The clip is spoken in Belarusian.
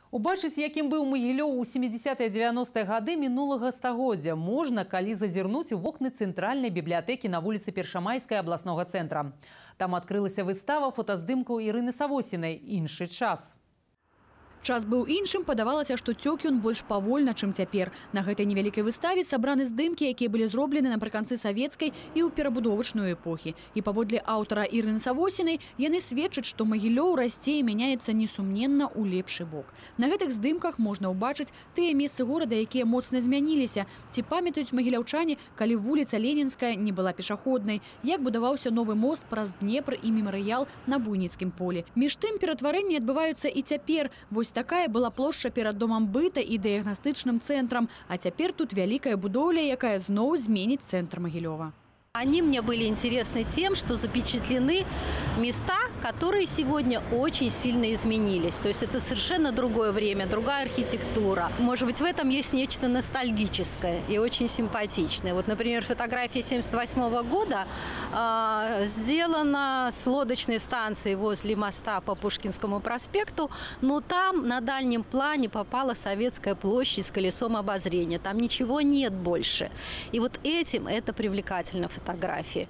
Убачыць, якім быў Магілёў у 70-90-е гады мінулага стагоддзя можна, калі зазірнуць у вокны цэнтральнай бібліятэкі на вуліцы Першамайскай абласнога цэнтра. Там адкрылася выстава фотаздымкаў Ірыны Савосінай «Іншы час». Час быў іншым, падавалася, што цёк ён больш павольна, чым цяпер. На гэтай невялікай выставе сабраны здымкі, якія былі зроблены напрыканцы савецкай і ў перабудовачную эпохі. І паводле аўтара Ірыны Савосінай яны сведчаць, што Магілёў расце і мяняецца несумненна ў лепшы бок. На гэтых здымках можна ўбачыць тыя месцы горада, якія моцна змяніліся. Ці памятаюць магіляўчане, калі вуліца Ленінская не была пешаходнай, як будаваўся новы мост праз Днепр і мемарыял на Буйніцкім полі. Між тым ператварэнні адбываюцца і цяпер. Вось такая была плошча перад домам быта і дыягнастычным цэнтрам, а цяпер тут вялікая будоўля, якая зноў зменіць цэнтр Магілёва. Они мне были интересны тем, что запечатлены места, которые сегодня очень сильно изменились. То есть это совершенно другое время, другая архитектура. Может быть, в этом есть нечто ностальгическое и очень симпатичное. Вот, например, фотография 1978 года сделана с лодочной станции возле моста по Пушкинскому проспекту, но там на дальнем плане попала Советская площадь с колесом обозрения. Там ничего нет больше. И вот этим это привлекательно фотографии.